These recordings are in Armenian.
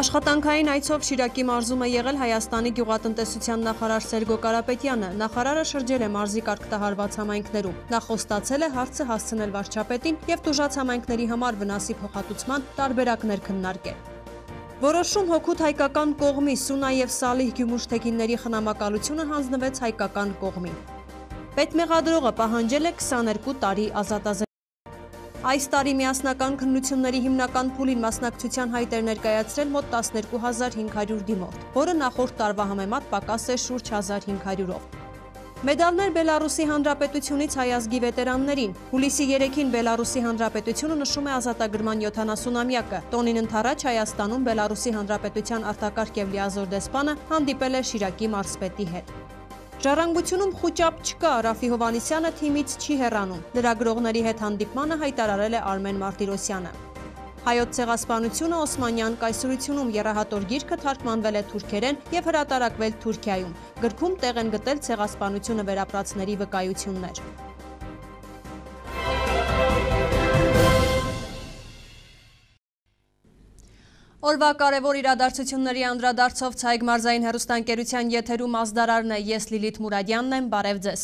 Աշխատանքային այցով Շիրակի մարզում է եղել Հայաստանի գյուղատնտեսության նախարար Սերգո Կարապետյանը։ Նախարարը շրջել է մարզի կարգտահարված համայնքներում։ Նա խոստացել է հարցը հասցնել վարչապետին եւ տուժած համայնքների համար վնասի փոխհատուցման տարբերակներ քննարկել։ Որոշում հօգուտ հայկական կողմի Սունա եւ Սալիհ գյումուշթեքինների խնամակալությունը հանձնվեց հայկական կողմին։ Պետմեղադրողը պահանջել է 22 տարի ազատազրկում։ Այս տարի միասնական քննությունների հիմնական փուլին մասնակցության հայտ էր ներկայացրել մոտ 12500 դիմորդ, որը նախորդ տարվա համեմատ պակաս է շուրջ 1500-ով։ Մեդալներ Բելարուսի Հանրապետությունից հայ ազգի վետերաններին։ Հուլիսի 3-ին Բելարուսի Հանրապետությունը նշում է ազատագրման 70-ամյակը։ Տոնին ընթരാճ Հայաստանում Բելարուսի Հանրապետության արտակարգ եւ լիազոր դեսպանը հանդիպել է Շիրակի մարզպետի հետ։ Ժառանգությունում խուճապ չկա, Ռաֆի Հովանիսյանը թիմից չի հեռանում։ Լրագրողների հետ հանդիպմանը հայտարարել է Արմեն Մարտիրոսյանը։ Հայոց ցեղասպանությունը Օսմանյան կայսրությունում եռահատոր գիրքը թարգմանվել է թուրքերեն եւ հրատարակվել Թուրքիայում։ Գրքում տեղ են գտել ցեղասպանությունը վերապրածների վկայություններ։ Օրվա կարևոր իրադարձությունների անդրադարձով Ցայգ մարզային հեռուստաընկերության եթերում ազդարարն է, ես Լիլիթ Մուրադյանն եմ, բարև ձեզ։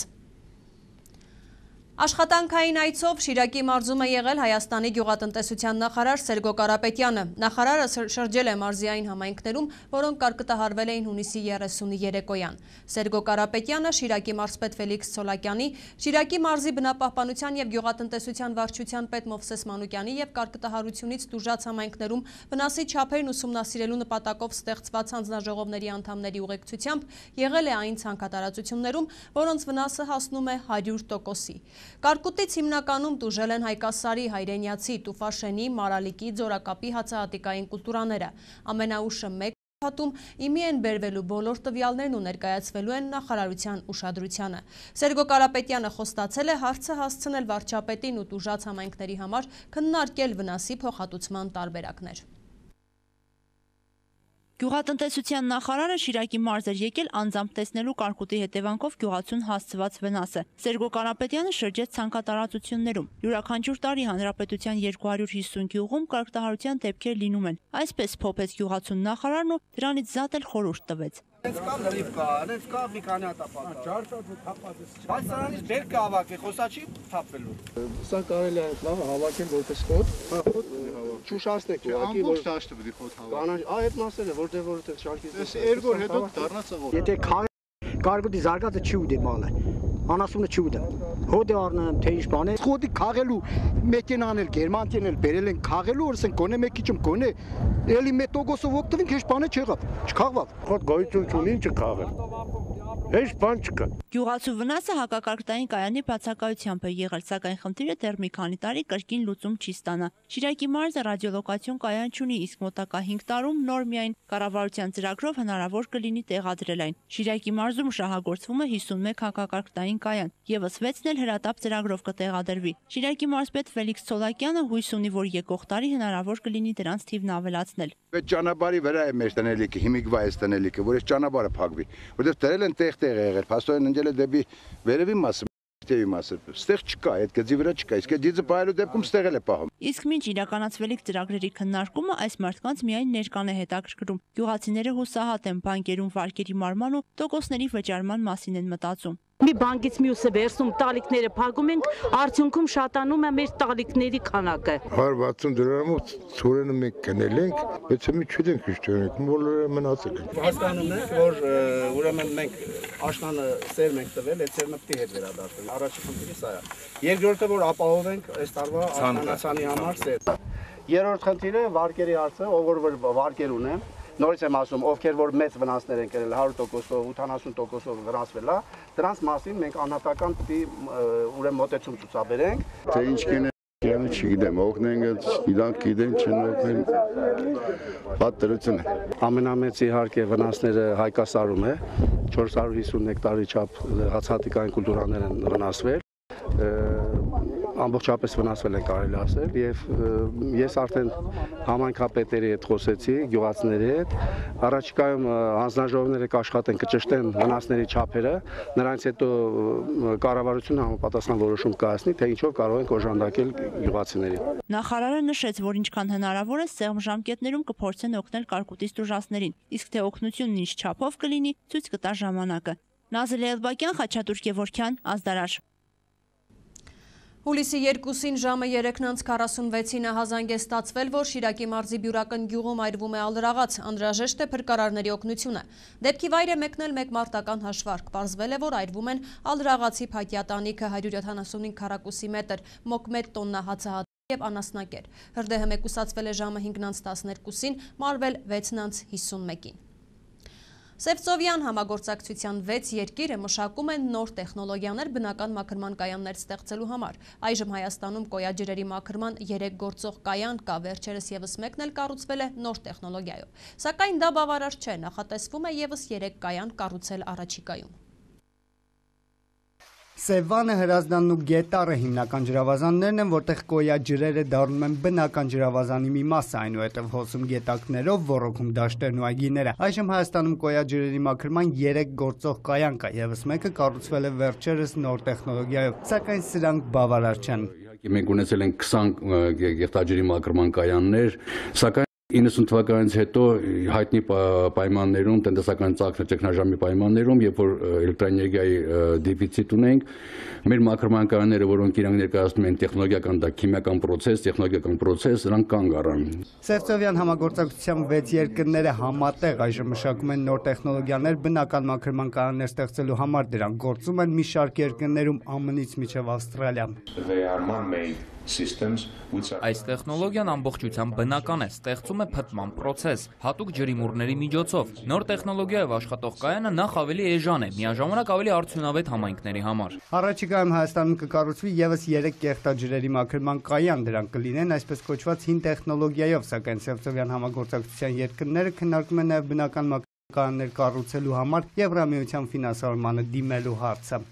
Աշխատանքային այցով Շիրակի մարզում է եղել Հայաստանի գյուղատնտեսության նախարար Սերգո Կարապետյանը։ Նախարարը շրջել է մարզի այն համայնքներում, որոնք կարգտահարվել էին հունիսի 30-ի երեկոյան։ Սերգո Կարապետյանը Շիրակի մարզպետ Ֆելիքս Ցոլակյանի, Շիրակի մարզի բնապահպանության եւ գյուղատնտեսության վարչության պետ Մովսես Մանուկյանի եւ կարգտահարությունից տուժած համայնքներում վնասի չափերն ուսումնասիրելու նպատակով ստեղծված հանձնաժողովների անդամների ուղեկցությամբ եղել է այն ցանքատարածություններում, որոնց վնասը հասնում է 100%-ի։ Կարկուտից հիմնականում տուժել են Հայկասարի, Հայրենյացի, Տուֆաշենի, Մարալիկի, Ձորակապի հացահատիկային կուլտուրաները։ Ամենաուշը մեկ հատում իմի են բերվելու բոլոր տվյալներն ու ներկայացվելու են նախարարության ուշադրությանը։ Սերգո Կարապետյանը խոստացել է հարցը հասցնել վարչապետին ու տուժած համայնքների համար քննարկել վնասի փոխհատուցման տարբերակներ։ Գյուղատնտեսության նախարարը Շիրակի մարզ էր եկել անձամբ տեսնելու կարկուտի հետևանքով գյուղացուն հասցված վնասը։ Սերգո Կարապետյանը շրջեց ցանկատարածություններում։ Յուրաքանչյուր տարի հանրապետության 250 գյուղում կարգտահարության դեպքեր լինում են։ Այսպես փոփեց գյուղացուն նախարարն ու դրանից զատ էլ խորհուրդ տվեց։ Կա մի քանի բայց սրանից բեր կհավաքի, խոսա չի թափվելու։ Սա կարելի է լավ հավաքել որպես խոտ, չուշացնեք ուղղակի, որ դաշտը պիտի խոտ հավաքի։ Այդ մասերը որտեղ շարքից։ Էս երկու հետո դառնա ծղոտ։ Եթե կարկուտի զարգացը չի ուտի մալը, անասունը չի ուտեմ։ Հոդը առնեմ, թե ինչ բան է։ Խոտի քաղելու մեքենան էլ գերմանցիան էլ բերել են քաղելու, որսեն գոնե մեկ քիչ գոնե էլի մետոգոսով օգտվենք, ինչ բան է չեղավ, չքաղվավ։ Խոտ գոյություն չունի, ինչ քաղել։ Heç բան չկա։ Գյուղացու վնասը հակակարգտային կայանի բացակայությամբ է եղել, սակայն խնդիրը դեռ մի քանի տարի կրկին լուծում չի ստանա։ Շիրակի մարզը ռադիոլոկացիոն կայան չունի, իսկ մոտակա 5 տարում նոր միայն կառավարության ծրագրով հնարավոր կլինի տեղադրել այն։ Շիրակի մարզում շահագործվում է 51 հակակարգտային կայան, եւս 6-ն էլ հրատապ ծրագրով կտեղադրվի։ Շիրակի մարզպետ Ֆելիքս Ցոլակյանը հույս ունի, որ եկող տարի հնարավոր կլինի դրանց թիվն ավելացնել։ Այդ ճանապարհի վրա է մեր տնելիքը, հիմիկվա է տնելիքը, որ այս ճանապարհը փակվի, որովհետև դրել են տեղ եղել, փաստորեն ընկել է դեպի վերևի մասը, դեպի մասը, ստեղ չկա, այդ գծի վրա չկա, իսկ այդ դիձը պահելու դեպքում ստեղ էլ է պահում։ Իսկ մինչ իրականացվելիք ծրագրերի քննարկումը այս մարդկանց միայն ներկան է հետաքրքրում։ Գյուղացիները հուսահատ են բանկերում վարկերի մարման ու տոկոսների վճարման մասին են մտածում։ Մի բանկից մյուսը վերցնում, տալիքները փակում ենք, արդյունքում շատանում է մեր տալիքների քանակը։ 160 դրամով ծորենը մենք գնել ենք, բայց մի չունենք իշխանենք, բոլորը մնացել են։ Հասկանում ենք, որ ուրեմն մենք աշնանը սերմ ենք տվել, այդ սերմը պետք է հետ վերադարձնել։ Առաջի խնդիրը սա է։ Երկրորդը, որ ապահովենք այս տարվա աշնանացանի համար սերմ։ Երրորդ խնդիրը վարկերի հարցը, ով որ վարկեր ունեն, նորից եմ ասում, ովքեր որ մեծ վնասներ են կրել 100%-ով, 80%-ով վնասվել է, դրանց մասին մենք անհատական պետք է ուրեմն մոտեցում ցուցաբերենք։ Թե ինչ կինը չգիտեմ, օգնենք, իրանք գիտեն, չեն օգնեն։ Պատերություն է։ Ամենամեծ իհարկե վնասները Հայկասարում է, 450 հեկտարի չափ հացահատիկային կուլտուրաներ են վնասվել։ ամբողջապես վնասվել են կարելի ասել եւ ես արդեն համայնքապետերի հետ խոսեցի, գյուղացիների հետ, առաջիկայում հանձնաժողովները կաշխատեն կճշտեն վնասների չափերը, նրանից հետո կառավարությունը համապատասխան որոշում կայացնի, թե ինչով կարող են օժանդակել գյուղացիներին։ Նախարարը նշեց, որ ինչքան հնարավոր է սեղմ ժամկետներում կփորձեն օգնել կարկուտից տուժածներին, իսկ թե օգնությունն ինչ չափով կլինի, ցույց կտա ժամանակը։ Նազիլե Էլբակյան, Խաչատուր Գևորգյան, Ազդարար։ Հուլիսի 2-ին ժամը 3:46-ին հազանգ է ստացվել, որ Շիրակի մարզի Բյուրական գյուղում այրվում է ալրաղաց, անհրաժեշտ է փրկարարների օգնությունը։ Դեպքի վայր է մեկնել մեկ մարտական հաշվարկ, պարզվել է, որ այրվում են ալրաղացի փայտյա տանիքը 175 քառակուսի մետր, մոկ 1 տոննա հացահատիկ և անասնակեր։ Հրդեհը մեկուսացվել է ժամը 5:12-ին, մարվել 6:51-ին։ Սևծովյան համագործակցության 6 երկիրը մշակում են նոր տեխնոլոգիաներ բնական մաքրման կայաններ ստեղծելու համար։ Այժմ Հայաստանում կոյաջրերի մաքրման 3 գործող կայան կա, վերջերս ևս մեկն էլ կառուցվել է նոր տեխնոլոգիայով։ Սակայն դա բավարար չէ, նախատեսվում է ևս 3 կայան կառուցել առաջիկայում։ Սևանը, Հրազդանն ու Գետառը հիմնական ջրավազաններն են, որտեղ կոյաջրերը դառնում են բնական ջրավազանի մի մասը, այնուհետև հոսում գետակներով, ոռոգում դաշտերն ու այգիները։ Այժմ Հայաստանում կոյաջրերի մաքրման 3 գործող կայան կա, ևս մեկը կառուցվել է վերջերս նոր տեխնոլոգիայով, սակայն սրանք բավարար չեն։ Մենք ունեցել ենք 20 գեղտաջրի մաքրման կայաններ, սակայն 90 թվականից հետո հայտնի պայմաններում, տնտեսական ճգնաժամի պայմաններում, երբ որ էլեկտրաէներգիայի դեֆիցիտ ունենք, մեր մաքրման կայանները, որոնք իրանք ներկայացնում են տեխնոլոգիական, քիմիական պրոցես, նրանք կանգ առան։ Սևծովյան համագործակցության 6 երկրները համատեղ այժմ մշակում են նոր տեխնոլոգիաներ բնական մաքրման կայաններ ստեղծելու համար, դրանք գործում են մի շարք երկրներում ԱՄՆ-ից մինչև Ավստրալիա։ Այս տեխնոլոգիան ամբողջությամբ բնական է, ստեղծում է փտման պրոցես, հատուկ ջրիմուռների միջոցով։ Նոր տեխնոլոգիայով աշխատող կայանը նախ ավելի էժան է, միաժամանակ ավելի արդյունավետ համայնքների համար։ Առաջիկայում Հայաստանում կկառուցվի ևս 3 կեղտաջրերի մաքրման կայան, դրանք կլինեն այսպես կոչված հին տեխնոլոգիայով, սակայն Սևծովյան համագործակցության երկրները քննարկում են նաև բնական մաքրման կայաններ կառուցելու համար Եվրամիության ֆինանսավորմանը դիմելու հարցը։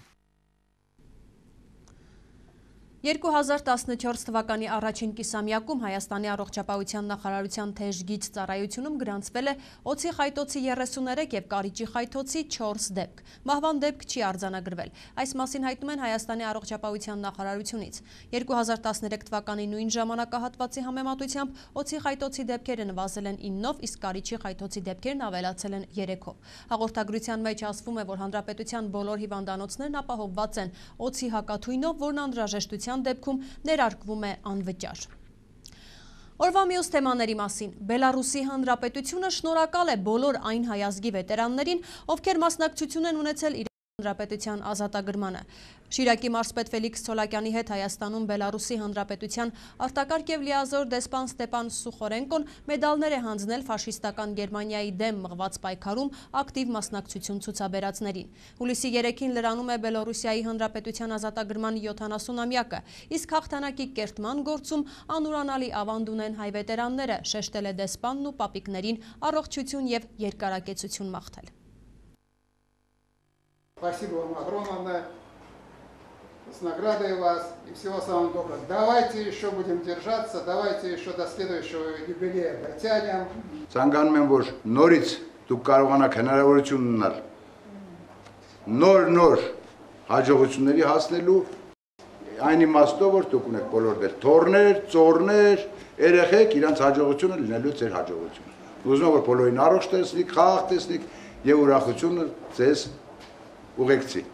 2014 թվականի առաջին կիսամյակում Հայաստանի առողջապահության նախարարության թեժգից ծառայությունում գրանցվել է օձի խայտոցի 33 և կարիճի խայտոցի 4 դեպք։ Մահվան դեպք չի արձանագրվել։ Այս մասին հայտնում են Հայաստանի առողջապահության նախարարությունից։ 2013 թվականի նույն ժամանակահատվածի համեմատությամբ օձի խայտոցի դեպքերը նվազել են 9-ով, իսկ կարիճի խայտոցի դեպքերն ավելացել են 3-ով։ Հաղորդագրության մեջ ասվում է, որ հանրապետության բոլոր հիվանդանոցներն ապահովված են օձի հակաթույնով, որն անհրաժեշտության դեպքում ներարկվում է անվճար։ Օրվա մյուս թեմաների մասին։ Բելարուսի Հանրապետությունը շնորհակալ է բոլոր այն հայազգի վետերաններին, ովքեր մասնակցություն են ունեցել իր Հանրապետության ազատագրմանը։ Շիրակի մարզպետ Ֆելիքս Ցոլակյանի հետ Հայաստանում Բելարուսի Հանրապետության արտակարգ և լիազոր դեսպան Ստեպան Սուխորենկոն մեդալներ է հանձնել ֆաշիստական Գերմանիայի դեմ մղված պայքարում ակտիվ մասնակցություն ցուցաբերածներին։ Հուլիսի 3-ին լրանում է Բելարուսիայի Հանրապետության ազատագրման 70-ամյակը, իսկ հաղթանակի կերտման գործում անուրանալի ավանդ ունեն հայ վետերանները, շեշտել է դեսպանն ու պապիկներին առողջություն և երկարակեցություն մաղթել։ Спасибо вам огромное, с наградой вас и всего самого доброго. Давайте еще будем держаться, давайте еще до следующего юбилея дотянем. Ցանկանում եմ, որ նորից դուք կարողանաք հնարավորություն ունենալ նոր հաջողությունների հասնելու այն իմաստով, որ դուք ունեք բոլորներ, թորներ, ծորներ, երեխեք իրանց հաջողությունը լինելու ձեր հաջողությունը։ Ուզում եմ, որ բոլորին առողջ տեսնիք, խաղաղ տեսնիք եւ ուրախությունը ձեզ ուղեկցի։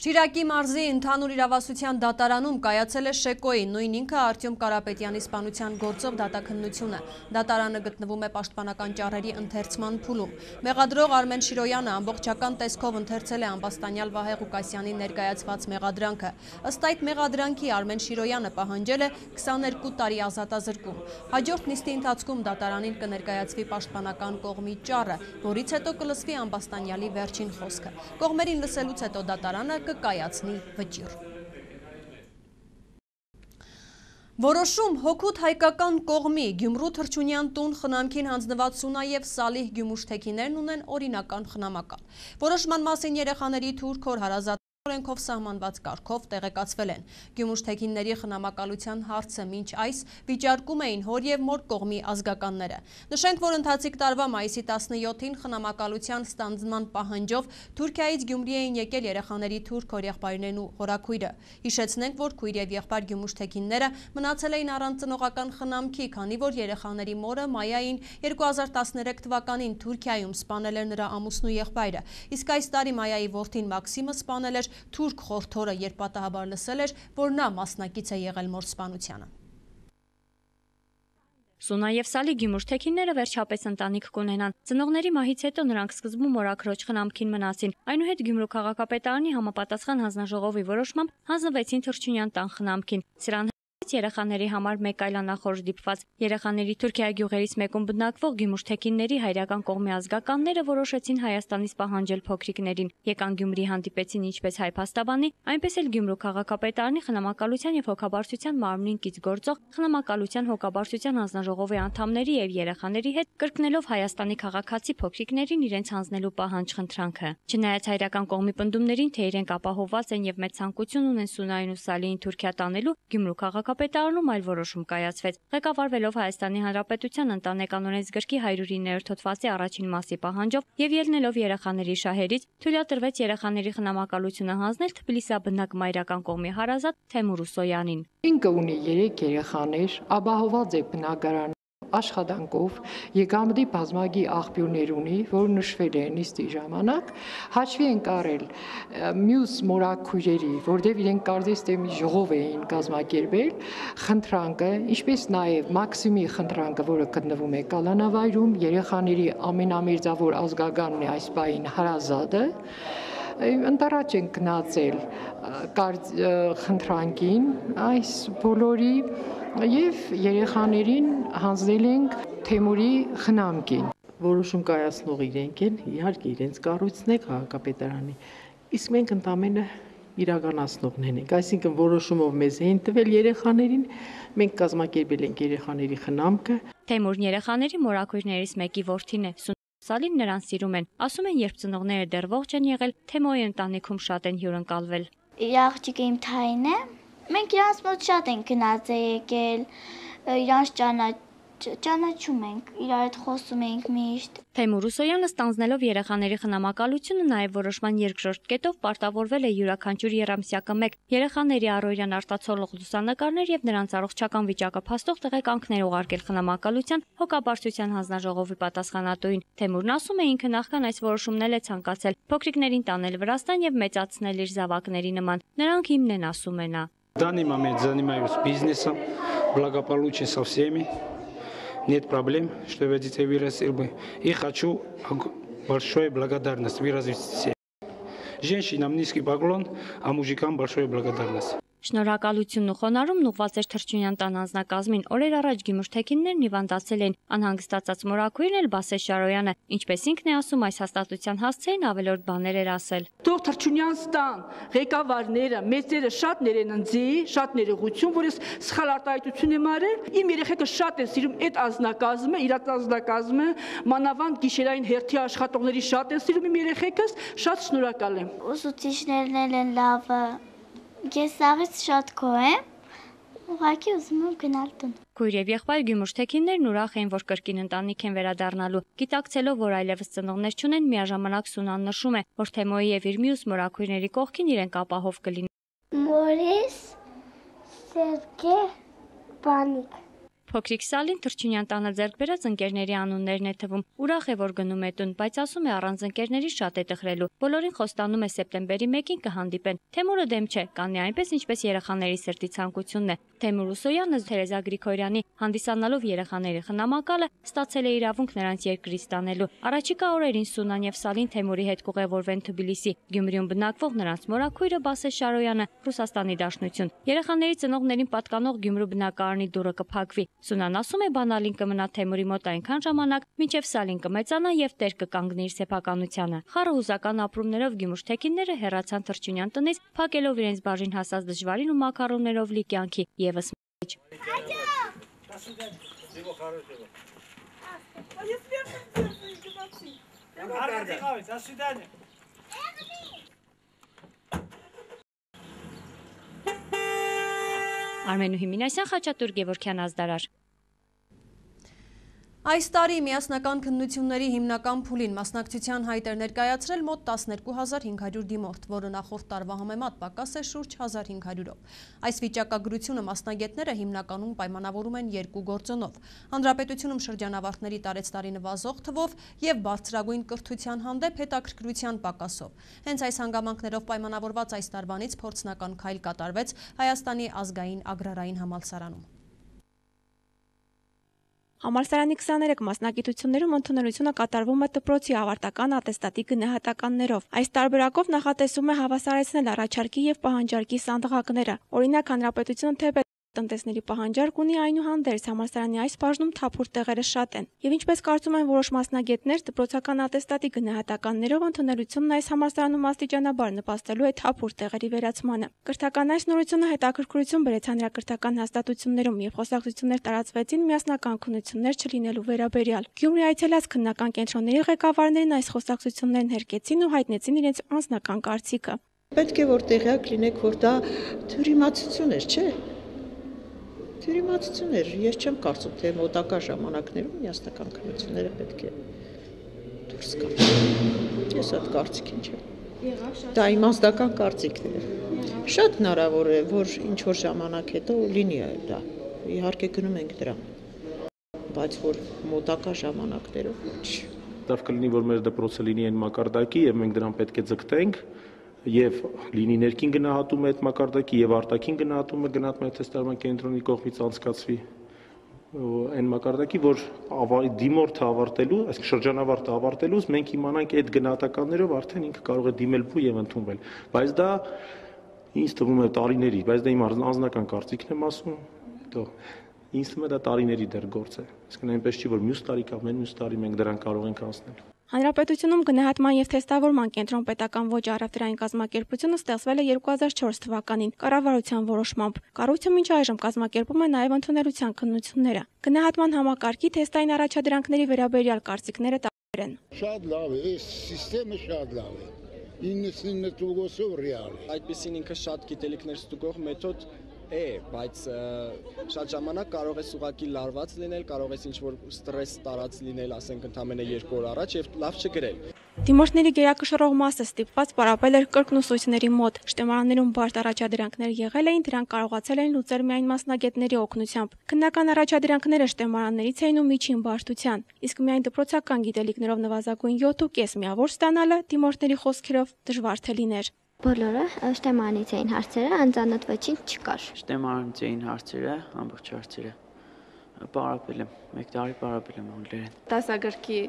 Շիրակի մարզի ընդհանուր իրավասության դատարանում կայացել է Շեկոյի, նույն ինքը Արտյոմ Կարապետյանի սպանության գործով դատաքննությունը։ Դատարանը գտնվում է պաշտպանական ճառերի ընթերցման փուլում։ Մեղադրող Արմեն Շիրոյանը ամբողջական տեսքով ընթերցել է ամբաստանյալ Վահե Ղուկասյանի ներկայացված մեղադրանքը։ Ըստ այդ մեղադրանքի Արմեն Շիրոյանը պահանջել է 22 տարի ազատազրկում։ Հաջորդ նիստի ընթացքում դատարանին կներկայացվի պաշտպանական կողմի ճառը, որից հետո կլսվի ամբաստանյալի վերջին խոսքը։ Կողմերին լսելուց հետո դատարանը կկայացնի վճիռ։ Որոշում հոգուտ հայկական կողմի Գյումրու Թրջունյան տուն խնամքին հանձնված Սունա և Սալիհ Գյումուշ թեքիներն ունեն օրինական խնամակալ։ Որոշման մասին երեխաների թուրք հոր հարազատ օրենքով սահմանված կարգով տեղեկացվել են։ Գյումուշ-թեքինների խնամակալության հարցը մինչ այս վիճարկում էին հոր եւ մոր կողմի ազգականները։ Նշենք, որ ընթացիկ տարվա մայիսի 17-ին խնամակալության ստանձնման պահանջով Թուրքիայից Գյումրի էին եկել երեխաների թուրք հորեղբայրներն ու հորաքույրը։ Հիշեցնենք, որ քույր եւ եղբայր գյումուշ-թեքինները մնացել էին առանց ծնողական խնամքի, քանի որ երեխաների մորը Մայային 2013 թվականին Թուրքիայում սպանել էր նրա ամուսնու եղբայրը, իսկ այս տարի Մայայի որդին Մաքսիմը սպանել էր թուրք խորթորը, երբ պատահաբար լսել էր, որ նա մասնակից է եղել մոր սպանությանը։ Սունա եւ Սալի գյումուշ-թեքինները վերջապես ընտանիք կունենան։ Ծնողների մահից հետո նրանք սկզբում մորաքրոջ խնամքին մնացին։ Այնուհետ Գյումրու քաղաքապետարանի համապատասխան հանձնաժողովի որոշմամբ հանձնվեցին Թրջունյան տան խնամքին։ Սրան երեխաների համար մեկ այլ անախորժ դիպված երեխաների Թուրքիայի գյուղերից մեկում բնակվող գյումուշ-թեքինների հայրական կողմի ազգականները որոշեցին Հայաստանից պահանջել փոքրիկներին։ Եկան Գյումրի, հանդիպեցին ինչպես հայ փաստաբանի, այնպես էլ Գյումրու քաղաքապետարանի խնամակալության եւ հոգաբարձության մարմնին կից գործող խնամակալության հոգաբարձության հանձնաժողովի անդամների եւ երեխաների հետ կրկնելով Հայաստանի քաղաքացի փոքրիկներին իրենց հանձնելու պահանջ-խնդրանքը։ Չնայած հայրական կողմի պնդումներին, թե իրենք ապահովված են եւ մեծ ցանկություն ունեն Սունային ու Սալիին Թուրքիա տանելու, Գյումրու քաղաքապետարանում այլ որոշում կայացվեց։ Ղեկավարվելով Հայաստանի Հանրապետության ընտանեկան օրենսգրքի 109-րդ հոդվածի առաջին մասի պահանջով եւ ելնելով երեխաների շահերից, թույլատրվեց երեխաների խնամակալությունը հանձնել Թբիլիսիաբնակ մայրական կողմի հարազատ Թեմուր Ուսոյանին։ Ինքը ունի 3 երեխաներ, ապահոված է բնակարան աշխատանքով, եկամտի բազմագի աղբյուրներ ունի, որ նշվել է նիստի ժամանակ, հաշվի են կարել մյուս մորաքույրերի, որտեղ իրենք կարծես թե մի ժողով էին կազմակերպել, խնդրանքը, ինչպես նաև Մաքսիմի խնդրանքը, որը գտնվում է կալանավայրում, երեխաների ամենամերձավոր ազգականն է այս պահին հարազատը, ընտառաջ են գնացել խնդրանքին այս բոլորի եւ երեխաներին հանձնել ենք Թեմուրի խնամքին։ Որոշում կայացնող իրենք են, իհարկե իրենց կառույցն է քաղաքապետարանի, իսկ մենք ընդամենը իրականացնողներն ենք, այսինքն որոշումով մեզ էին տվել երեխաներին, մենք կազմակերպել ենք երեխաների խնամքը։ Թեմուրն երեխաների մորաքույրներից մեկի որդին է։ Սալին նրան սիրում են, ասում են, երբ ծնողները դեռ ողջ են եղել, Թեմոյի ընտանիքում շատ են հյուրընկալվել։ Իր աղջիկը իմ թային է, մենք իրանց մոտ շատ ենք գնաց եկել, իրանց ճանաչում ենք, իրար հետ խոսում ենք միշտ։ Թեմուր Ուսոյանը ստանձնելով երեխաների խնամակալությունը նաև որոշման երկրորդ կետով պարտավորվել է յուրաքանչյուր երամսյակը 1 երեխաների առօրյան արտացոլող լուսանկարներ եւ նրանց առողջական վիճակը փաստող տեղեկանքներ ուղարկել խնամակալության հոգաբարձության հանձնաժողովի պատասխանատուին։ Թեմուրն ասում է, ինքը նախքան այս որոշումն էլ է ցանկացել փոքրիկներին տանել Վրաստան եւ մեծացնել իր զավակների нման։ Նրանք հիմն են, ասում է նա։ В данный момент занимаюсь бизнесом, благополучен со всеми. Нет проблем, что я детей вырастил бы. И хочу большой благодарность выразить всем. Женщинам низкий поклон, а мужикам большой благодарность. Շնորհակալությունն ու խոնարհումն ուղղված էր Թրջունյան տան անձնակազմին։ Օրեր առաջ գյումուշ-թեքիններն հիվանդացել էին, անհանգստացած մորաքույրն էլ Բասե Շարոյանը, ինչպես ինքն է ասում, այս հաստատության հասցեին ավելորդ բաներ էր ասել։ Թող Թրջունյան տան ղեկավարները, մեծերը շատ ներեննձի, շատ ներողություն, որ ես սխալ արտահայտություն եմ արել։ Իմ երեխեքը շատ են սիրում այդ անձնակազմը, իրաց անձնակազմը, մանավանդ գիշերային հերթի աշխատողների շատ են սիրում իմ երեխեքս, շատ շնորհակալ եմ։ Ուսուցիչներն են լավը։ Ես աղից շատ գոհ եմ, ուղղակի ուզում եմ գնալ տուն։ Քույր եւ եղբայր գյումուշ-թեքիններն ուրախ էին, որ կրկին ընտանիք են վերադառնալու։ Գիտակցելով, որ այլևս ծնողներ չունեն, միաժամանակ Սունան նշում է, որ Թեմոյի եւ իր մյուս մորաքույրների կողքին իրենք ապահով կլինեն։ Մորիս, Սերգե, Բանիկ։ Փոքրիկ Սալին Թրջունյան տանը ձեռք բերած ընկերների անուններն է թվում։ Ուրախ է, որ գնում է տուն, բայց ասում է, առանց ընկերների շատ է տխրելու։ Բոլորին խոստանում է սեպտեմբերի 1-ին կհանդիպեն։ Թեմուրը դեմ չէ, կանի այնպես, ինչպես երեխաների սրտի ցանկությունն է։ Թեմուր Ուսոյանը Թերեզա Գրիգորյանի հանդիսանալով երեխաների խնամակալը ստացել է իրավունք նրանց երկրից տանելու։ Առաջիկա օրերին Սունան եւ Սալին Թեմուրի հետ կուղևորվեն Թբիլիսի։ Գյումրիում բնակվող նրանց մորաքույրը Բասե Շարոյանը Ռուսաստանի Դաշնություն։ Երեխաների ծնողներին պատկանող Գյումրու բնակարանի դուռը կփակվի։ Սունան ասում է, բանալին կմնա Թեմուրի մոտ այնքան ժամանակ, մինչև Սալին կմեծանա եւ տեր կկանգնի իր սեփականությանը։ Խառը հուզական ապրումներով գյումուշ-թեքինները հեռացան Թրջունյան տնից, փակելով իրենց բաժին հասած դժվարին ու մակարոններով լի կյանքի եւս մեջ։ До свидания. Արմենուհի Մինասյան, Խաչատուր Գևորգյան ազդարար։ Այս տարի միասնական քննությունների հիմնական փուլին մասնակցության հայտ էր ներկայացրել մոտ 12500 դիմորդ, որը նախորդ տարվա համեմատ պակաս է շուրջ 1500-ով։ Այս վիճակագրությունը մասնագետները հիմնականում պայմանավորում են երկու գործոնով՝ հանրապետությունում շրջանավարտների տարեցտարի նվազող թվով և բարձրագույն կրթության հանդեպ հետաքրքրության պակասով։ Հենց այս հանգամանքներով պայմանավորված այս տարվանից փորձնական քայլ կատարվեց Հայաստանի ազգային ագրարային համալսարանում։ Համալսարանի 23 մասնագիտություններում ընդունելությունը կատարվում է դպրոցի ավարտական ատեստատի գնահատականներով։ Այս տարբերակով նախատեսում է հավասարեցնել առաջարկի և պահանջարկի սանդղակները։ Օրինակ, հանրապետությունը թեպետ տնտեսների պահանջարկ ունի, այնուհանդերձ համալսարանի այս բաժնում թափուր տեղերը շատ են։ Եվ ինչպես կարծում են որոշ մասնագետներ, դպրոցական ատեստատի գնահատականներով ընդունելությունն այս համալսարանում աստիճանաբար նպաստելու է թափուր տեղերի վերացմանը։ Կրթական այս նորությունը հետաքրքրություն բերեց հանրակրթական հաստատություններում և խոսակցություններ տարածվեցին միասնական քննություններ չլինելու վերաբերյալ։ Գյումրի այցելած քննական կենտրոնների ղեկավարներն այս խոսակցություններն հերկեցին ու հայտնեցին իրենց անձնական կարծիքը։ Պետք է որ տեղյակ լինեք, որ դա թյուրիմացություն էր, չէ՞։ Թյուրիմացություն էր, ես չեմ կարծում, թե մոտակա ժամանակներում միասնական քննությունները պետք է դուրս գան։ Ես այդ կարծիքին չեմ։ Դա իմաստական կարծիքն է։ Շատ հնարավոր է, որ ինչ-որ ժամանակ հետո լինի դա։ Իհարկե գնում ենք դրան։ Բայց որ մոտակա ժամանակներով ոչ։ Դա կլինի, որ մեր դպրոցը լինի այն մակարդակի եւ մենք դրան պետք է ձգտենք եւ լինի ներքին գնահատումը այդ մակարդակի եւ արտաքին գնահատումը գնահատման թեստարման կենտրոնի կողմից անցկացվի այն մակարդակի, որ դիմորդը ավարտելու, այսինքն շրջանավարտը ավարտելուց մենք իմանանք այդ գնահատականներով արդեն ինքը կարող է դիմել եւ ընդունվել։ Բայց դա ինձ թվում է տարիների, բայց դա իմ անձնական կարծիքն եմ ասում, հետո ինձ թվում է դա տարիների դեռ գործ է։ Այսինքն այնպես չի, որ մյուս տարի կամ մյուս տարի մենք դրան կարող ենք անցնել։ Հանրապետությունում գնահատման և թեստավորման կենտրոն պետական ոչ առևտրային կազմակերպությունը ստեղծվել է 2004 թվականին կառավարության որոշմամբ։ Կառույցը մինչ այժմ կազմակերպում է նաև ընդունելության քննությունները։ Գնահատման համակարգի թեստային առաջադրանքների վերաբերյալ կարծիքները տարբեր են։ Շատ լավ է, այս սիստեմը շատ լավ է։ 99%-ով ռեալ է։ Այդպեսին ինքը շատ գիտելիքներ ստուգող մեթոդ է, բայց շատ ժամանակ կարող է ուղղակի լարված լինել, կարող է ինչ-որ ստրես տարած լինել, ասենք ընդամենը 2 օր առաջ եւ լավ չգրել։ Դիմորդների գերակշռող մասը ստիպված պարապել էր կրկնուսույցների մոտ։ Շտեմարաններում բարդ առաջադրանքներ եղել էին, դրանք կարողացել էին լուծել միայն մասնագետների օգնությամբ։ Քննական առաջադրանքները շտեմարաններից էին ու միջին բարդության, իսկ միայն դպրոցական գիտելիքներով նվազագույն 7.5 միավոր ստանալը դիմորդների խոսքերով դժվար թե լիներ։ Բոլորը շտեմանից էին հարցերը, անծանոթ ոչինչ չկար։ Շտեմանից էին հարցերը, ամբողջ հարցերը։ Պարապել եմ, 1 տարի պարապել եմ անգլերեն։ Դասագրքի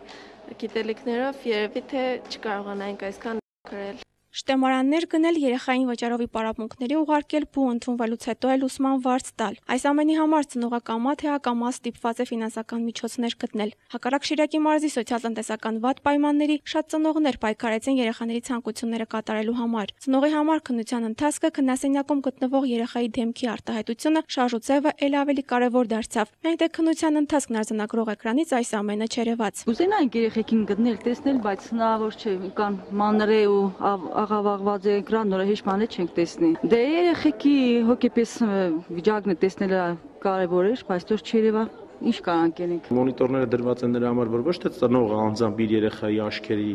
գիտելիքներով երևի թե չկարողանայինք այսքան գրել։ Շտեմարաններ գնել, երեխային վճարովի պարապմունքների ուղարկել, բու ընդունվելուց հետո էլ ուսման վարձ տալ։ Այս ամենի համար ծնողը կամա թե ակամա ստիպված է ֆինանսական միջոցներ գտնել։ Հակառակ Շիրակի մարզի սոցիալ-տնտեսական վատ պայմանների շատ ծնողներ պայքարեցին երեխաների ցանկությունները կատարելու համար։ Ծնողի համար քննության ընթացքը քննասենյակում գտնվող երեխայի դեմքի արտահայտությունը շարժուձևը էլ ավելի կարևոր դարձավ։ Միայն թե քննության ընթացքն արձանագրող էկրանից այս ամենը չերևաց։ Կուզենայինք երեխեքին գտնել, տեսնել, բայց հնարավոր չէ, կան մանրե ու աղավաղված էկրան, նորը հեշտ բաներ չենք տեսնի։ Դե երեխեքի հոգեպես վիճակն է տեսնելը կարևոր է, բայց դեռ չերևա ինչ կարանք ենք։ Մոնիտորները դրված են նրա համար, որ ոչ թե ծնողը անձամբ իր երեխայի աչքերի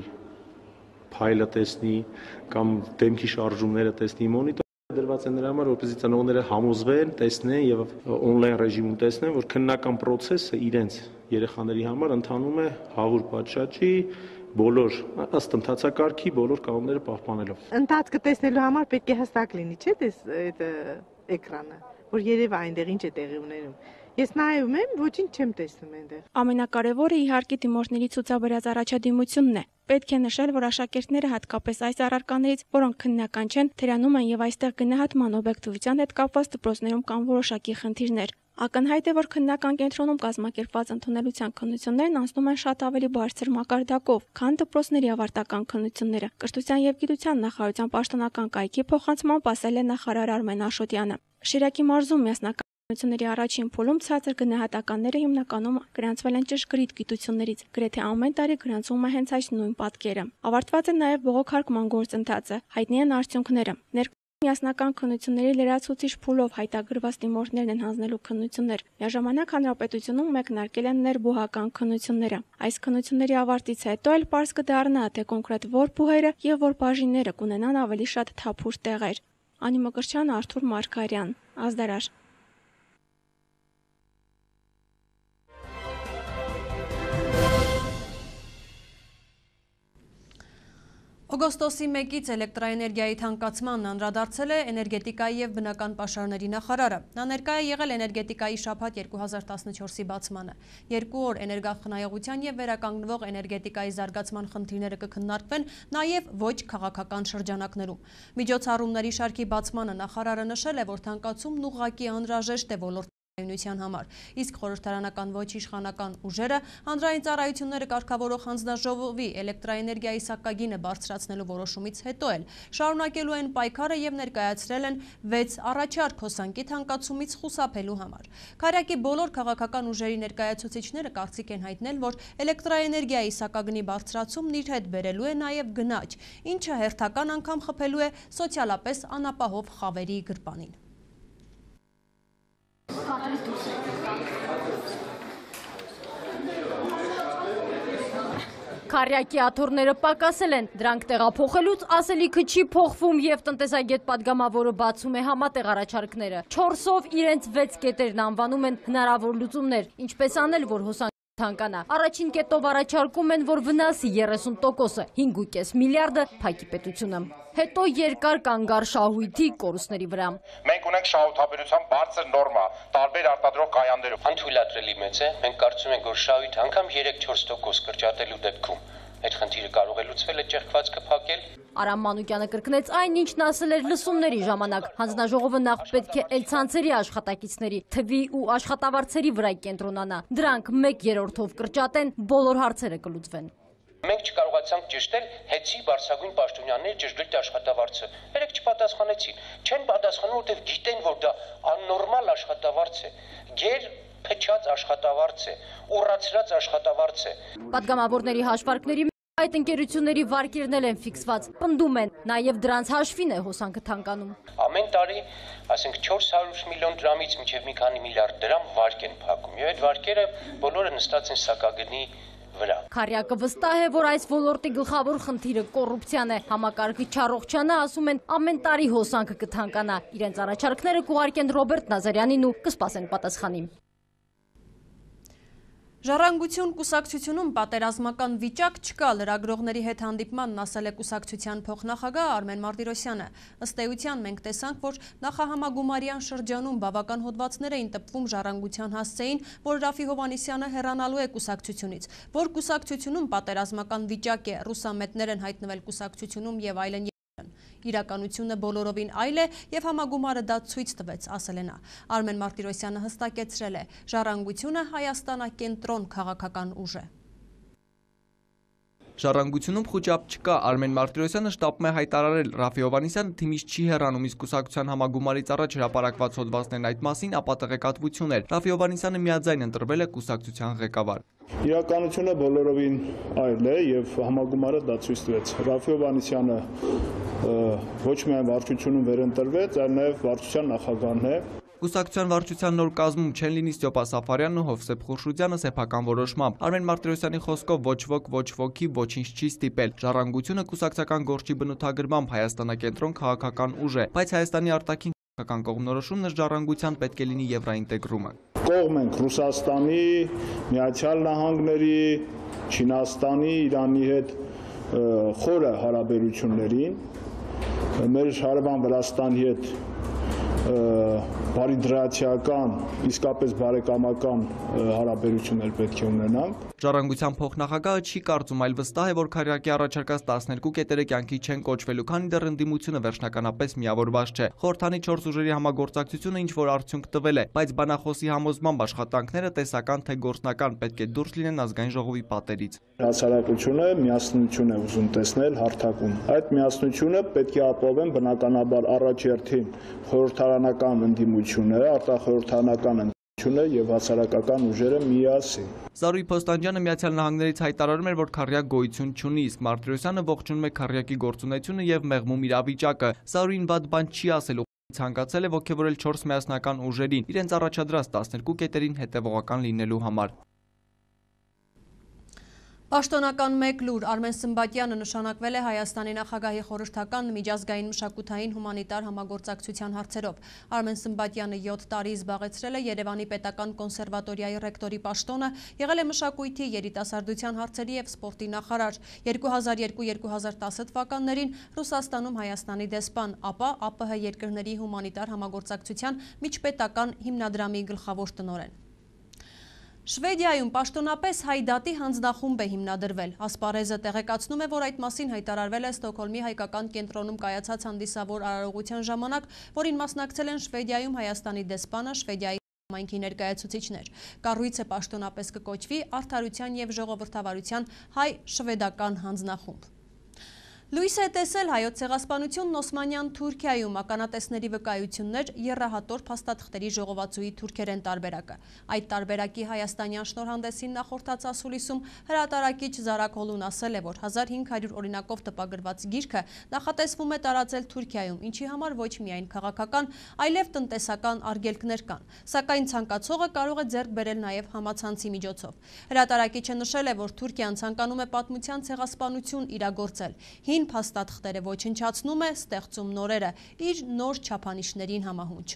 փայլը տեսնի կամ դեմքի շարժումները տեսնի, մոնիտորները դրված են նրա համար, որպեսզի ծնողները համոզվեն, տեսնեն եւ on-line ռեժիմում տեսնեն, որ քննական process-ը իրենց երեխաների համար ընթանում է հավուր պատշաճի բոլոր ըստ ընթացակարգի բոլոր կանոնները պահպանելով։ Ընթացքը տեսնելու համար պետք է հստակ լինի, չէ՞, այդ էկրանը, որ երևա այնտեղ ինչ է տեղի ունենում։ Ես նայում եմ, ոչինչ չեմ տեսնում այնտեղ։ Ամենակարևորը իհարկե դիմորդների ցուցաբերած առաջադիմությունն է։ Պետք է նշել, որ աշակերտները հատկապես այս առարկաներից, որոնք քննական չեն, թերանում են եւ այստեղ գնահատման օբյեկտիվության հետ կապված դպրոցներում կան որոշակի խնդիրներ։ Ակնհայտ է, որ քննական կենտրոնում կազմակերպված ընդունելության քննություններն անցնում են շատ ավելի բարձր մակարդակով, քան դպրոցների ավարտական քննությունները։ Կրթության եւ գիտության նախարարության պաշտոնական կայքի փոխանցմամբ ասել է նախարար Արմեն Աշոտյանը։ Շիրակի մարզում միասնական քննությունների առաջին փուլում ցածր գնահատականները հիմնականում գրանցվել են ճշգրիտ գիտություններից։ Գրեթե ամեն տարի գրանցվում է հենց այս նույն պատկերը։ Ավարտված է նաեւ բողոքարկման գործընթացը, հայտնի են արդյունքները։ Միասնական քննությունների լրացուցիչ փուլով հայտագրված դիմորդներն են հանձնելու քննություններ։ Միաժամանակ հանրապետությունում մեկնարկել են ներբուհական քննությունները։ Այս քննությունների ավարտից հետո էլ պարզ կդառնա, թե կոնկրետ որ բուհերը եւ որ բաժինները կունենան ավելի շատ թափուր տեղեր։ Անի Մկրտչյան, Արթուր Մարգարյան, Ազդարար։ Օգոստոսի 1-ից էլեկտրաէներգիայի թանկացմանն անդրադարձել է էներգետիկայի եւ բնական պաշարների նախարարը։ Նա ներկայ է եղել էներգետիկայի շաբաթ 2014-ի բացմանը։ 2 օր էներգախնայողության եւ վերականգնվող էներգետիկայի զարգացման խնդիրները կքննարկվեն նաեւ ոչ քաղաքական շրջանակներում։ Միջոցառումների շարքի բացմանը նախարարը նշել է, որ թանկացումն ուղղակի անհրաժեշտ է ոլորտի համար, իսկ խորհրդարանական ոչ իշխանական ուժերը հանրային ծառայությունները կարգավորող հանձնաժողովի էլեկտրաէներգիայի սակագինը բարձրացնելու որոշումից հետո էլ շարունակելու են պայքարը եւ ներկայացրել են 6 առաջարկ հոսանքի թանկացումից խուսափելու համար։ Քարյակի բոլոր քաղաքական ուժերի ներկայացուցիչները կարծիք են հայտնել, որ էլեկտրաէներգիայի սակագնի բարձրացումն իր հետ բերելու է նաեւ գնաճ, ինչը հերթական անգամ խփելու է սոցիալապես անապահով խավերի գրպանին։ Քարյակի աթոռները պակասել են, դրանք տեղափոխելուց ասելիքը չի փոխվում եւ տնտեսագետ падգամավորը բացում է համատեղ առաջարկները։ 4-ով իրենց 6 կետերն անվանում են հնարավոր լուծումներ, ինչպես անել, որ հոսանքը թանկանա։ Առաջին կետով առաջարկում են, որ վնասի 30%-ը, 5.5 միլիարդը փակի պետությունը։ Հետո երկար կանգար շահույթի կորուստների վրա։ Մենք ունենք շահութաբերության բարձր նորմա տարբեր արտադրող կայաններում։ Անթույլատրելի մեծ է, մենք կարծում ենք, որ շահույթ անգամ 3-4% կրճատելու դեպքում այդ խնդիրը կարող է լուծվել այդ ճեղքվածքը փակել։ Արամ Մանուկյանը կրկնեց այն, ինչն ասել էր լսումների ժամանակ։ Հանձնաժողովը նախ պետք է էլցանցերի աշխատակիցների, թվի ու աշխատավարձերի վրա կենտրոնանա։ Դրանք 1/3-ով կրճատեն, բոլոր հարցերը կլուծվեն։ Մենք չկարողացանք ճշտել հեծի բարձրագույն պաշտոնյաների ճշգրիտ աշխատավարձը։ Երեք չպատասխանեցին։ Չեն պատասխանում, որտեղ գիտեն, որ դա աննորմալ աշխատավարձ է։ Գեր փչած աշխատավարձ է, ուռացրած աշխատավարձ է։ Պատգամավորների հաշվարկների այդ ընկերությունների վարկերն են ֆիքսված, պնդում են, նաև դրանց հաշվին է հոսանքը թանկանում։ Ամեն տարի, ասենք 400 միլիոն դրամից մինչև մի քանի միլիարդ դրամ վարկ են փակում, եւ այդ վարկերը բոլորը նստած են սակագնի վրա։ Քարյակը վստահ է, որ այս ոլորտի գլխավոր խնդիրը կոռուպցիան է։ Համակարգի չառողջանը ասում են ամեն տարի հոսանքը կթանկանա։ Իրենց առաջարկները կուղարկեն Ռոբերտ Նազարյանին ու կսպասեն պատասխանի։ Ժառանգություն կուսակցությունում պատերազմական վիճակ չկա, լրագրողների հետ հանդիպմանն ասել է կուսակցության փոխնախագահ Արմեն Մարտիրոսյանը։ Ըստ էության մենք տեսանք, որ նախահամագումարյան շրջանում բավական հոդվածներ էին տպվում ժառանգության հասցեին, որ Ռաֆի Հովհաննիսյանը հեռանալու է կուսակցությունից, որ կուսակցությունում պատերազմական վիճակ է, ռուսամետներ են հայտնվել կուսակցությունում եւ այլն։ Իրականությունը բոլորովին այլ է եւ համագումարը դա ցույց տվեց, ասել է նա։ Արմեն Մարտիրոսյանը հստակեցրել է, ժառանգությունը Հայաստանակենտրոն քաղաքական ուժ է։ Ժառանգությունում խոճապ չկա, Արմեն Մարտիրոսյանը շտապում է հայտարարել, Ռաֆի Հովհաննիսյանը թիմից չի հեռանում, իսկ կուսակցության համագումարից առաջ հրապարակված հոդվածներն այդ մասին ապա տեղեկատվություն էր։ Ռաֆի Հովհաննիսյանը միաձայն ընտրվել է կուսակցության ղեկավար։ Իրականությունը բոլորովին այլ է եւ համագումարը դա ցույց տվեց։ Ռաֆի Հովհաննիսյանը ոչ միայն վարչությունում վերընտրվեց, այլ նաեւ վարչության նախագահն է։ Կուսակցության վարչության նոր կազմում չեն լինի Ստյոպա Սաֆարյանն ու Հովսեփ Խուրշուդյանը սեփական որոշմամբ։ Արմեն Մարտիրոսյանի խոսքով ոչ ոք, ոչ ոքի ոչինչ չի ստիպել։ Ժառանգությունը կուսակցական գործի բնութագրմամբ Հայաստանակենտրոն քաղաքական ուժ է, բայց Հայաստանի արտաքին քաղաքական կողմնորոշումն ժառանգության պետք է լինի եվրաինտեգրումը։ Կողմ ենք Ռուսաստանի, Միացյալ Նահանգների, Չինաստանի, Իրանի հետ խորը հարաբերություններին, մեր հարևան Վրաստանի հետ բարիդրացիական, իսկապես բարեկամական հարաբերություններ պետք է ունենանք։ Ժառանգության փոխնախագահը չի կարծում, այլ վստահ է, որ քարյակի առաջարկած 12 կետերը կյանքի չեն կոչվելու, քանի դեռ ընդդիմությունը վերջնականապես միավորված չէ։ Խորհրդանի 4 ուժերի համագործակցությունը ինչ որ արդյունք տվել է, բայց բանախոսի համոզմամբ աշխատանքները տեսական թե գործնական պետք է դուրս լինեն ազգային ժողովի պատերից։ Հասարակությունը միասնություն է ուզում տեսնել հարթակում։ Այդ միասնությունը պետք է ապահովեն բնականաբար առաջերտին խորհրդարանական ընդդիմությունը, արտախորհրդարանական Եվ հասարակական ուժերը միասին։ Զարուհի Փոստանջյանը Միացյալ Նահանգներից հայտարարում էր, որ քառյակ գոյություն չունի, իսկ Մարտիրոսյանը ողջունում է քառյակի գործունեությունը եւ մեղմում իրավիճակը։ Զարուհին վատ բան չի ասել, ցանկացել է ողջևորել 4 միասնական ուժերին, իրենց առաջադրած 12 կետերին հետևողական լինելու համար։ Պաշտոնական մեկ լուր Արմեն Սմբատյանը նշանակվել է Հայաստանի նախագահի խորհրդական միջազգային մշակութային հումանիտար համագործակցության հարցերով։ Արմեն Սմբատյանը 7 տարի զբաղեցրել է Երևանի պետական կոնսերվատորիայի ռեկտորի պաշտոնը, եղել է մշակույթի, երիտասարդության հարցերի և սպորտի նախարար։ 2002-2010 թվականներին Ռուսաստանում Հայաստանի դեսպան, ապա ԱՊՀ երկրների հումանիտար համագործակցության միջպետական հիմնադրամի գլխավոր տնօրեն։ Շվեդիայում պաշտոնապես հայ դատի հանձնախումբ է հիմնադրվել։ Ասպարեզը տեղեկացնում է, որ այդ մասին հայտարարվել է Ստոկհոլմի հայկական կենտրոնում կայացած հանդիսավոր արարողության ժամանակ, որին մասնակցել են Շվեդիայում Հայաստանի դեսպանը, Շվեդիայի համայնքի ներկայացուցիչներ։ Կառույցը պաշտոնապես կկոչվի Արդարության և ժողովրդավարության հայ-շվեդական հանձնախումբ։ Լույս է տեսել հայոց ցեղասպանությունն Օսմանյան Թուրքիայում ականատեսների վկայություններ եռահատոր փաստաթղթերի ժողովածուի թուրքերեն տարբերակը։ Այդ տարբերակի հայաստանյան շնորհանդեսին նախորդած ասուլիսում հրատարակիչ Զարակ Հոլուն ասել է, որ 1500 օրինակով տպագրված գիրքը նախատեսվում է տարածել Թուրքիայում, ինչի համար ոչ միայն քաղաքական, այլև տնտեսական արգելքներ կան, սակայն ցանկացողը կարող է ձեռք բերել նաև համացանցի միջոցով։ Հրատարակիչը նշել է, որ Թուրքիան ցանկանում է պատմության ցեղասպանություն իրագործել։ Փաստաթղթերը ոչնչացնում է, ստեղծում նորերը, իր նոր չափանիշներին համահունչ։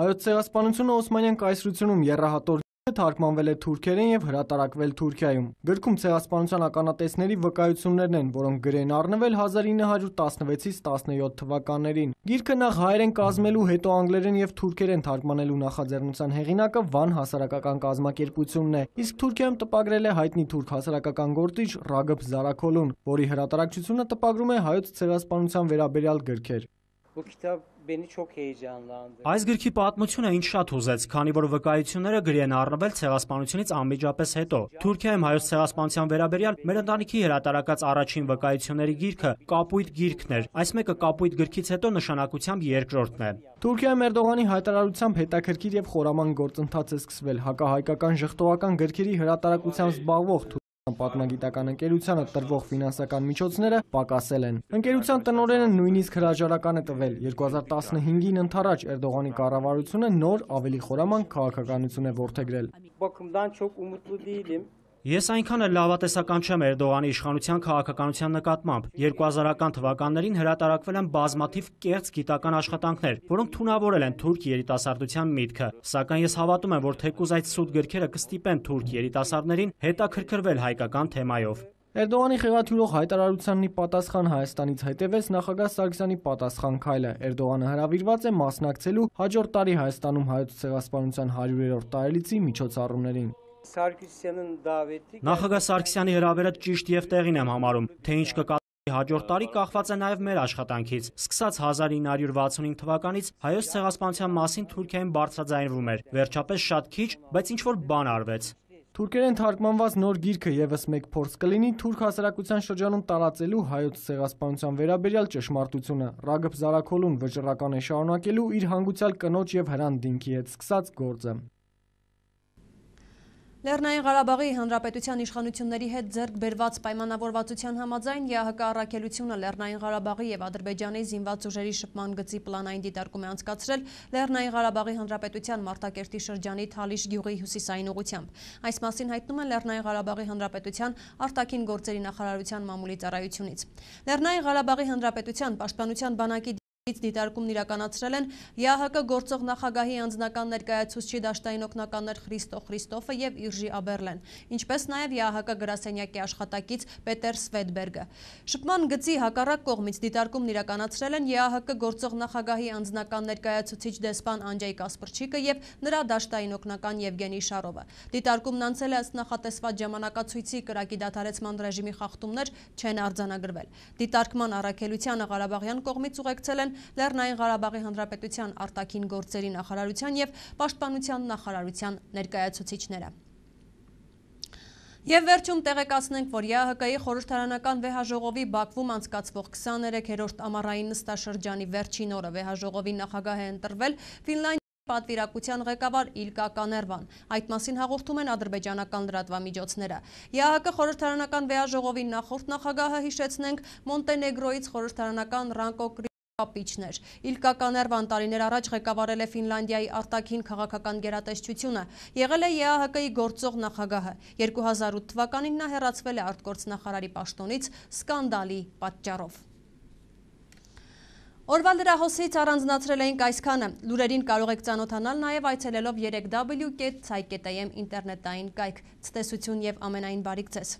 Հայոց ցեղասպանությունը Օսմանյան կայսրությունում եռահատոր թարգմանվել է թուրքերեն եւ հրատարակվել Թուրքիայում։ Գրքում ցեղասպանության ականատեսների վկայություններն են, որոնք գրեն առնվել 1916-ից 17 թվականներին։ Գիրքը նախ հայերեն կազմելու, հետո անգլերեն եւ թուրքերեն թարգմանելու նախաձեռնության հեղինակը Վան հասարակական կազմակերպությունն է, իսկ Թուրքիայում տպագրել է հայտնի թուրք հասարակական գործիչ Ռագըբ Զարաքոլուն, որի հրատարակչությունը տպագրում է հայոց ցեղասպանության վերաբերյալ գրքեր։ Այս գրքի պատմությունը ինձ շատ հուզեց, քանի որ վկայությունները գրի են առնվել ցեղասպանությունից անմիջապես հետո։ Թուրքիայում հայոց ցեղասպանության վերաբերյալ մեր ընտանիքի հրատարակած առաջին վկայությունների գիրքը կապույտ գիրքն էր, այս մեկը կապույտ գրքից հետո նշանակությամբ երկրորդն է։ Թուրքիայում Էրդողանի հայտարարությամբ հետաքրքիր եւ խորամանկ գործընթաց է սկսվել հակահայկական ժխտողական գրքերի հրատարակությամբ զբաղվող պատմագիտական ընկերությանը տրվող ֆինանսական միջոցները պակասել են։ Ընկերության տնօրենը նույնիսկ հրաժարական է տվել։ 2015-ին ընդառաջ Էրդողանի կառավարությունը նոր ավելի խորամանկ քաղաքականություն է որդեգրել։ Ես այնքան էլ լավատեսական չեմ Էրդողանի իշխանության քաղաքականության նկատմամբ։ 2000-ական թվականներին հրատարակվել են բազմաթիվ կեղծ գիտական աշխատանքներ, որոնք թունավորել են թուրք երիտասարդության միտքը։ Սակայն ես հավատում եմ, որ թեկուզ այդ սուտ գրքերը կստիպեն թուրք երիտասարդներին հետաքրքրվել հայկական թեմայով։ Էրդողանի խեղաթյուրող հայտարարությանն ի պատասխան Հայաստանից հետևեց նախագահ Սարգսյանի պատասխան քայլը։ Էրդողանը հրավիրված է մասնակցելու հաջորդ տարի Հայաստանում հայոց ցեղասպանության 100-րդ տարելիցի միջոցառումներին։ Նախագահ Սարգսյանի հրավերը ճիշտ եւ տեղին եմ համարում, թե ինչ կկատարվի հաջորդ տարի կախված է նաեւ մեր աշխատանքից։ Սկսած 1965 թվականից հայոց ցեղասպանության մասին Թուրքիայում բարձրաձայնվում էր, վերջապես շատ քիչ, բայց ինչ որ բան արվեց։ Թուրքերեն թարգմանված նոր գիրքը եւս մեկ փորձ կլինի թուրք հասարակության շրջանում տարածելու հայոց ցեղասպանության վերաբերյալ ճշմարտությունը։ Ռագըբ Զարաքոլուն վճռական է շարունակելու իր հանգուցյալ կնոջ եւ Հրանտ Դինքի հետ սկսած գործը։ Լեռնային Ղարաբաղի Հանրապետության իշխանությունների հետ ձեռք բերված պայմանավորվածության համաձայն ԵԱՀԿ առաքելությունը Լեռնային Ղարաբաղի եւ Ադրբեջանի զինված ուժերի շփման գծի պլանային դիտարկում է անցկացրել Լեռնային Ղարաբաղի Հանրապետության Մարտակերտի շրջանի Թալիշ գյուղի հյուսիսային ուղությամբ։ Այս մասին հայտնում են Լեռնային Ղարաբաղի Հանրապետության արտաքին գործերի նախարարության մամուլի ծառայությունից։ Լեռնային Ղարաբաղի Հանրապետության պաշտպանության բանակի դիտարկումն իրականացրել են ԵԱՀԿ գործող նախագահի անձնական ներկայացուցչի դաշտային օգնականներ Խրիստո Խրիստոֆը եւ Իրժի Աբերլեն, ինչպես նաեւ ԵԱՀԿ գրասենյակի աշխատակից Պետեր Սվեդբերգը։ Շփման գծի հակառակ կողմից դիտարկումն իրականացրել են ԵԱՀԿ գործող նախագահի անձնական ներկայացուցիչ դեսպան Անջեյ Կասպրչիկը եւ նրա դաշտային օգնական Եվգենի Շարովը։ Դիտարկումն անցել է ըստ նախատեսված ժամանակացույցի, կրակի դադարեցման ռեժիմի խախտումներ չեն արձանագրվել։ Դիտարկման առաքելությանը Ղարաբաղյան կողմից ուղեկցել են Լեռնային Ղարաբաղի Հանրապետության արտաքին գործերի նախարարության եւ պաշտպանության նախարարության ներկայացուցիչները։ Եվ վերջում տեղեկացնենք, որ ԵԱՀԿ-ի խորհրդարանական վեհաժողովի Բաքվում անցկացվող 23-րդ ամառային նստաշրջանի վերջին օրը վեհաժողովի նախագահ է ընտրվել Ֆինլանդիայի պատվիրակության ղեկավար Իլկա Կաներվան։ Այդ մասին հաղորդում են ադրբեջանական լրատվամիջոցները։ ԵԱՀԿ խորհրդարանական վեաժողովի նախորդ նախագահը, հիշեցնենք, Մոնտենեգրոյից խորհրդարանական Ռանկո Կապիչներ։ Իլկա Կաներվան տարիներ առաջ ղեկավարել է Ֆինլանդիայի արտաքին քաղաքական գերատեսչությունը, եղել է ԵԱՀԿ-ի գործող նախագահը։ 2008 թվականին նա հեռացվել է արտգործնախարարի պաշտոնից սկանդալի պատճառով։ Օրվա լրահոսից առանձնացրել էինք այսքանը։ Լուրերին կարող եք ծանոթանալ նաև այցելելով 3w.ցայ.am ինտերնետային կայք։ Ցտեսություն եւ ամենայն բարիք ձեզ։